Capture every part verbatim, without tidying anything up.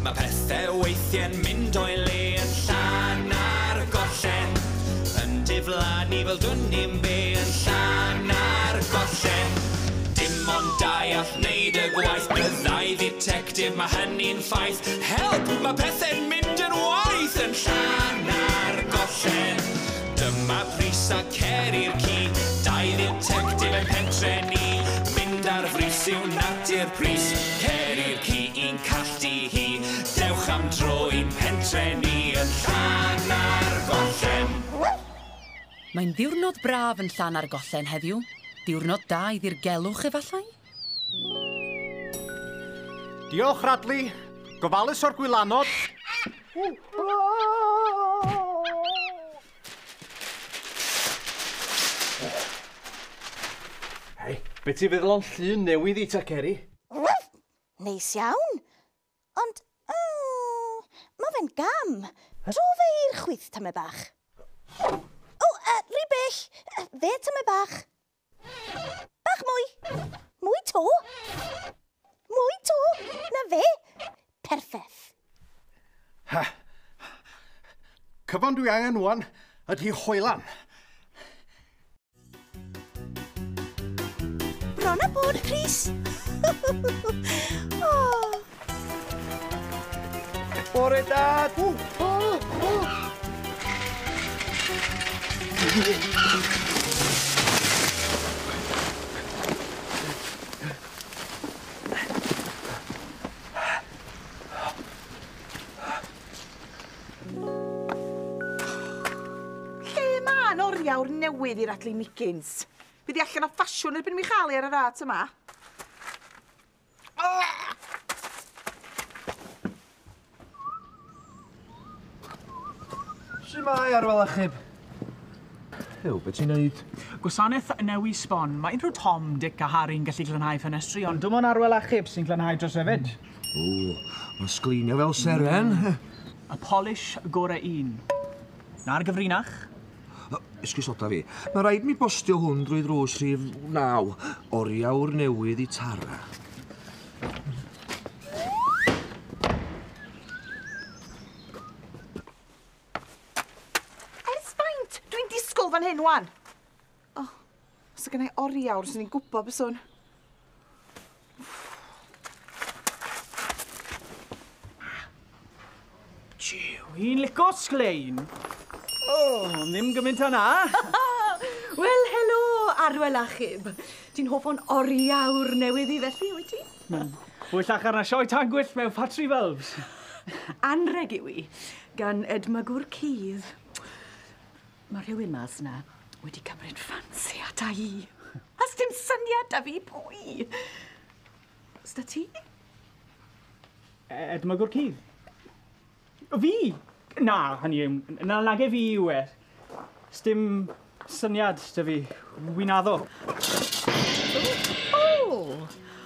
Mae pethau weithiau'n mynd o'i le yn Llanargollen. Yn diflannu fel dwn i'm be yn Llanargollen. Dim ond dau all wneud y gwaith, byddai dditectif, mae hynny'n ffaith. Help! Mae pethau'n mynd yn waeth yn Llanargollen. Dyma Pris a Ceri'r ci, dau dditectif yn pentre ni. Mynd ar frys yw natur Pris, Ceri'r ci i'n calltu hi. Dewch am dro i'n pentre ni yn Llanargollen. Mae'n ddiwrnod braf yn Llanargollen heddiw. Diwrnod da i ddirgelwch efallai? Diolch, Radley. Gofalus o'r gwylanod. Hei, be ti'n feddwl o'n llun newydd i ta, Ceri? Neis iawn. Ond, mm, mae fe'n gam. Dro fe i'r chwith tamed bach. O, uh, rhy bell. Fe tamed bach. Bach mwy. Mwy to. Mwy to. Na fe. Perffaith. Ha. Cyfan dwi angen wan ydy hoelan. Bron a bod, Pris. Oh. Bore da. O, o, o. Lle ma'n oriawr newydd i Radley Miggins? Fydd hi allan o ffasiwn erbyn mi chael hi ar y rât yma. Shwmae, Arwel Achub? Ew, be ti'n neud? Gwasanaeth newi sbon. Mae unrhyw Tom, Dick a Harry'n gallu glanhau ffenestri, ond dim ond Arwel Achub sy'n glanhau dros hefyd. O, mae'n sglinio fel seren. Mm. Y polish gore un. Na'r gyfrinach. Esgusoda fi. Mae rhaid mi bostio hwn drwy ddrws rhif naw. Oriawr newydd i Tara. Ers faint? Dwi'n disgwyl fan hyn wan. O, os oedd gennai oriawr, swn i'n gwybod byswn. Jiw, i'n lico sglein. O, ddim gymaint o na. Wel, helo, Arwel Achub. Ti'n hoff o'n oriawr newydd i felly, wyt ti? Mm. Fwyllach arna sioe tan gwyllt mewn ffatri bulbs. Anreg yw i, gan edmygwr cudd. Mae rhywun mas na wedi cymryd ffansi ata i. A sdim syniad da fi pwy. Sda ti? Edmygwr cudd? Fi? Na, hynny yw, na nage fi yw e. Sdim syniad da fi, wi'n addo. O,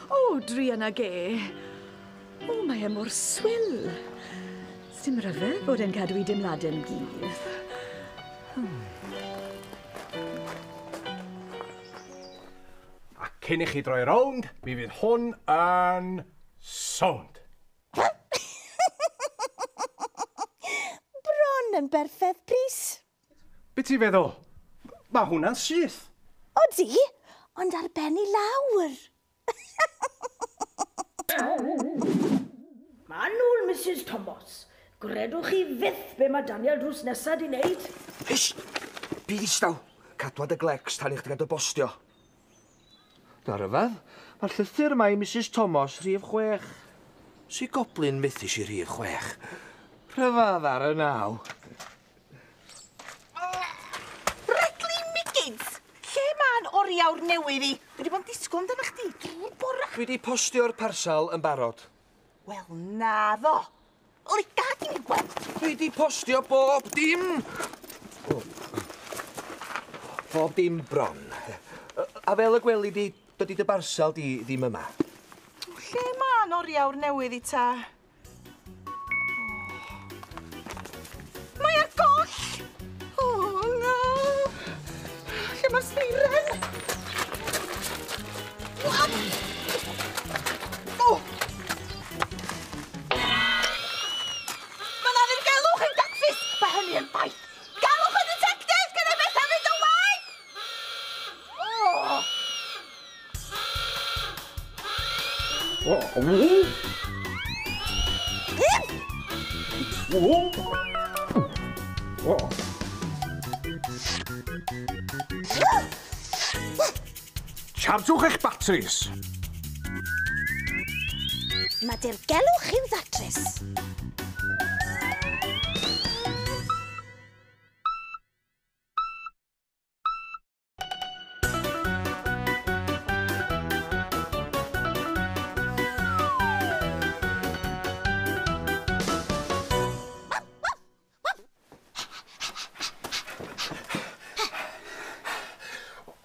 o, druan ag e. O, mae e mor swil. Sdim ryfedd bod e'n cadw i dimladau'n gudd. Hmm. A cyn i chi droi rownd, mi fydd hwn yn sownd. Bron yn berffaith, Pris. Be ti'n feddwl? Mae hwnna'n syth. Odi, ond ar ben i lawr. Manwl, Missus Thomas. Gredwch chi fyth be mae Daniel drws nesaf di wneud. Hys! Byd ddistaw. Cadwa dy glecs tan i chdi gael dy bostio. Na ryfedd, mae'r llythyr yma i Missus Thomas rhif chwech. Si goblin methus i rhif chwech. Rhyfedd ar y naw. Radley Miggins! Lle ma'n oriawr newydd i? Dwi wedi bod yn disgwyl amdano chdi drwy'r bora. Dwi wedi postio'r parsal yn barod. Wel, naddo. Oli, gad i mi gweld. Dwi wedi postio bob dim. O. Bob dim bron. A fel y gweli di, dydy dy barsal di ddim yma. Lle ma'n oriawr newydd i ta? Mae ar goll! O, na! Lle mae'r seiren? O! Chargwch eich batris. Mae dirgelwch i'w ddatrys.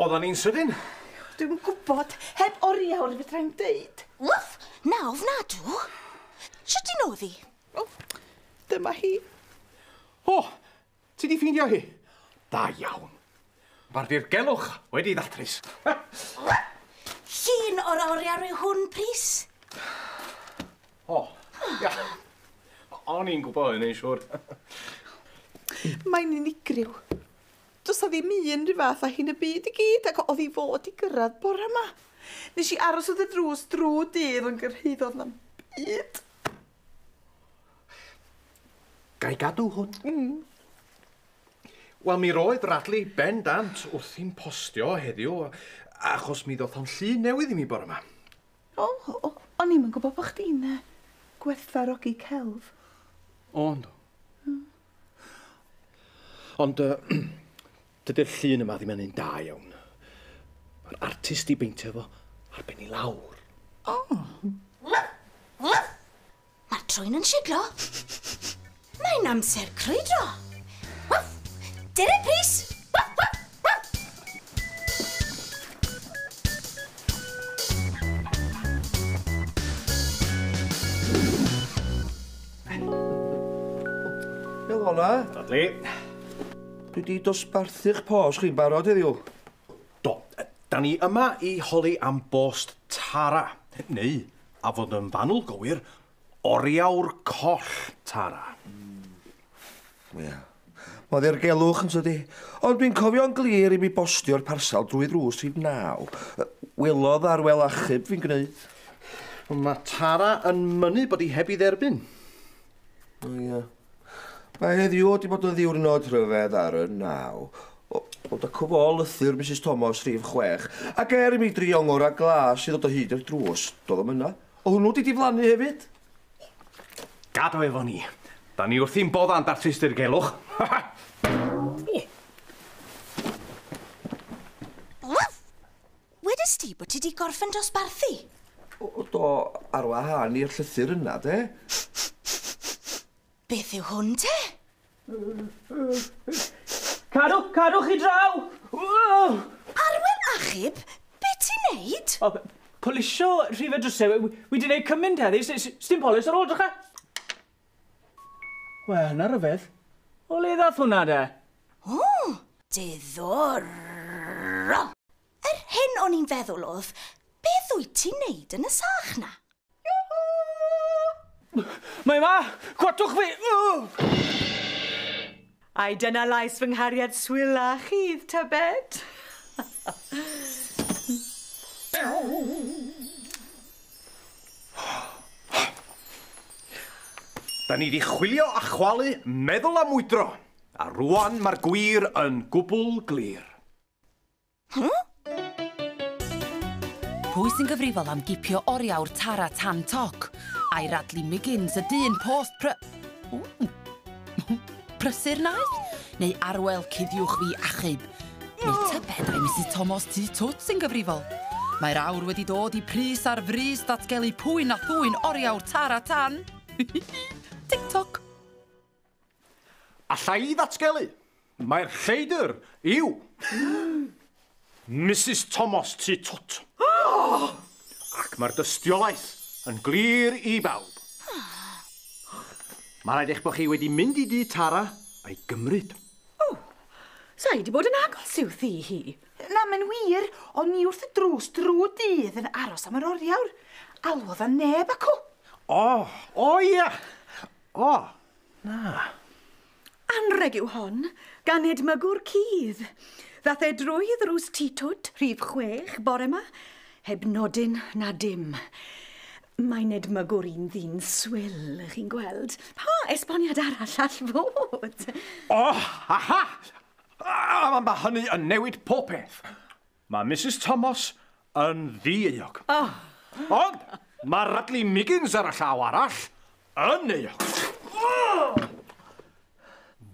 Oedden ni'n sydyn? Dwi'm yn gwybod, heb oriawr fedrai'm deud. Wff, na ofnadw. Sut ti'n oddi? O, dyma hi. O, ti di ffeindio hi? Da iawn. Mae'r dirgelwch wedi ddatrys. Llun o'r oriawr yw hwn, Prys. O, ia. O'n i'n gwybod hynny'n siŵr. Mae'n unigryw. Does 'na ddim un rhyw fath â hi'n y byd i gyd, ac oedd hi fod i gyrraedd bore yma. Nes i aros wrth y drws drwy dydd ond gyrhaeddodd na'm byd. Ga i gadw hwn? Mm. Wel, mi roedd Radley bendant wrthi'n postio heddiw, achos mi ddoth o'n llun newydd i mi bore yma. O, o, o'n i'm yn gwybod bod chdi'n uh, gwerthfawrogi celf. O, yndw. Mm. Ond, uh, dydy'r llun yma ddim yn un da iawn. Mae'r artist i beintio fo ar ben i lawr. O. Mae'r trwyn yn siglo. Mae'n amser crwydro. Dere, Prys! Helo na. Radley. Dwi di dosbarthu'ch post chi'n barod heddiw. Do, da ni yma i holi am bost Tara. Neu, a fod yn fanwl gywir, oriawr coll Tara. Ia. Mae ddirgelwch yn tydi. Ond dwi'n cofio'n glir i mi bostio'r parsal drwy ddrws rhif naw. Welodd ar wel achub fi'n gwneud. Mae Tara yn mynnu bod hi heb ei dderbyn. O ia. Mae heddiw wedi bod yn ddiwrnod rhyfedd ar y naw. O, o da cwfo lythyr Missus Thomas rhif chwech. Ac er i mi drio ngora glas i ddod o hyd i'r drws, doedd o'm yna. O hwnnw di diflannu hefyd. Gadw efo ni. Da ni wrthi'n bodda'n datrys dirgelwch. Wedest ti bod ti di gorffen dosbarthu? O, do, ar wahân i'r llythyr yna, de. Beth yw hwn, te? Cadw, cadw chi draw! Arwel Achub, be ti'n neud? O, polisio rhifau drysau. Wi di neud cymaint heddi, sdim polis ar ôl drycha. Wel, na ryfedd. O le ddath hwnna, de? O, diddorol. Yr hyn o'n i'n feddwl oedd, beth wyt ti'n neud yn y sach na? Mae ma! Cwatwch fi! Ai, dyna lais fy nghariad swil a chudd, tybed? Da ni di chwilio a chwalu, meddwl a mwydro. A rwan mae'r gwir yn gwbl glir. Hmm? Pwy sy'n gyfrifol am gipio oriawr Tara tan toc? Ai Radley Miggins, y dyn post pry... Ww. Prysur naeth? Neu Arwel cuddiwch fi achub? Neu tybed ai Missus Thomas Tŷ Twt sy'n gyfrifol? Mae'r awr wedi dod i Prys ar frys datgelu pwy na thwyn oriawr Tara tan. TikTok. Alla i ddatgelu? Mae'r lleidr yw Missus Thomas Tŷ Twt. Ac mae'r dystiolaeth yn glir i bawb. Mae rhaid eich bod chi wedi mynd i dŷ Tara a'i gymryd. O, sa i wedi bod yn agos i'w thŷ hi. Na, mae'n wir, o'n i wrth y drws drwy dydd yn aros am yr oriawr. Alwodd a neb acw. O, o ia. O, na. Anreg yw hon, gan edmygwr cudd. Ddath e drwy ddrws Tŷ Twt, rhif chwech, bore yma, heb nodyn na dim. Mae'n edmygwr un ddyn swil, chi'n gweld. Pa esboniad arall all fod? O, aha! A, mae hynny yn newid popeth. Mae Missus Thomas yn ddieuog. Oh. Ond mae Radley Miggins ar y llaw arall yn euog. Oh!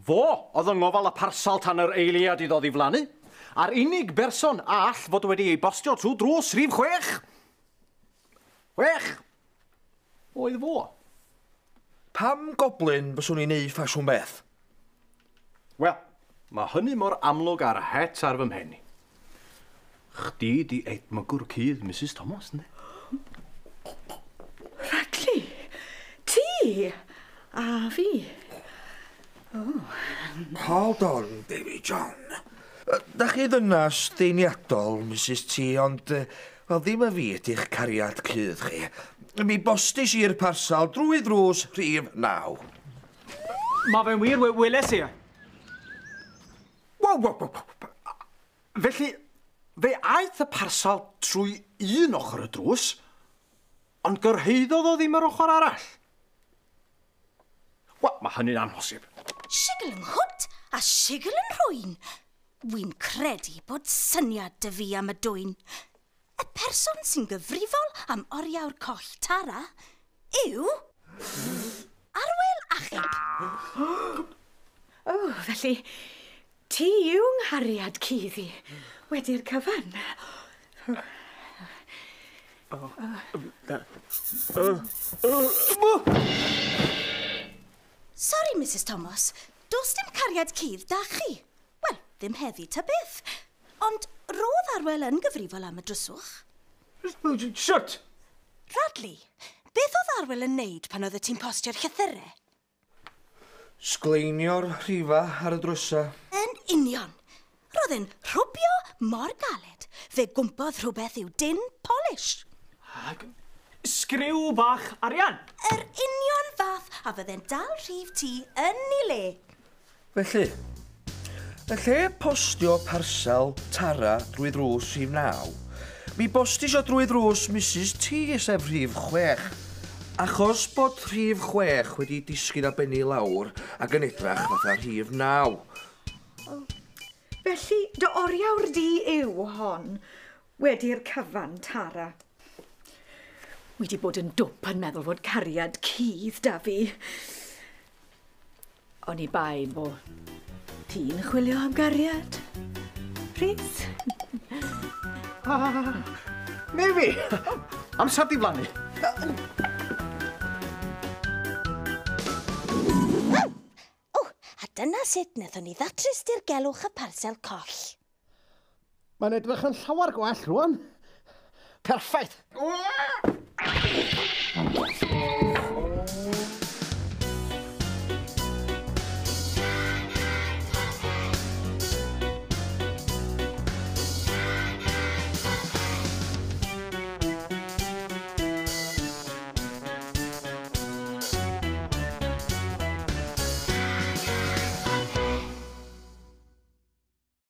Fo oedd yng ngofal y parsal tan yr eiliad iddo ddiflannu, a'r unig berson all fod wedi ei bostio trwy drws rhif chwech. Chwech! Oedd fo. Pam goblin fyswn i'n neud ffasiwn beth? Wel, mae hynny mor amlwg ar het ar fy mhen i. Chdi di edmygwr cudd Missus Thomas, ynddi? Radley, ti a fi. Oh. Hold on, baby John. Da chi ddynas deiniadol, Missus T, ond wel, ddim y fi ydy'ch cariad cudd chi. Mi bostis i'r parsal drwy ddrws rhif naw. Mae fe'n wir, weles i. Wow, wow, wow. Felly, fe aeth y parsal trwy un ochr y drws, ond gyrhaeddodd o ddim yr ochr arall. Wel, mae hynny'n amhosib. Sigl yng nghwt a sigl yn rhwy'n. Wy'n credu bod syniad dy fi am y dwyn. Y person sy'n gyfrifol am oriawr coll Tara yw Arwel Achub. O, oh, felly ti yw nghariad cudd i wedi'r cyfan. Oh. Oh. Oh. Sorry, Missus Thomas, does dim cariad cudd da chi. Wel, ddim heddi ta beth. Ond roedd Arwel yn gyfrifol am y dryswch. Shwt! Radley, beth oedd Arwel yn neud pan oedd ti'n postio'r llythyrau? Sgleinio'r rhifa ar y drysa. Yn union. Roedd e'n rhwbio mor galed. Fe gwmpodd rhywbeth i'w din polish. Ag sgriw bach arian. Yr union fath a fydde'n dal rhif ti yn ei le. Felly, yn lle postio parsel Tara drwy ddrws rhif naw, mi bostis o drwy ddrws Missus T, sef rhif chwech. Achos bod rhif chwech wedi disgyn a benni lawr ac yn edrach fatha rhif naw. Oh. Felly, dy oriawr di yw hon, wedi'r cyfan, Tara. Wedi bod yn dwp yn meddwl fod cariad cudd da fi. O'n i bai bo ti'n chwilio am gariad, Rhys? Ah, neu fi! Amser diflannu. O, a dyna sut wnaethon ni ddatrys dirgelwch y parsel coll. Mae'n edrych yn llawer gwell rwan. Perffaith!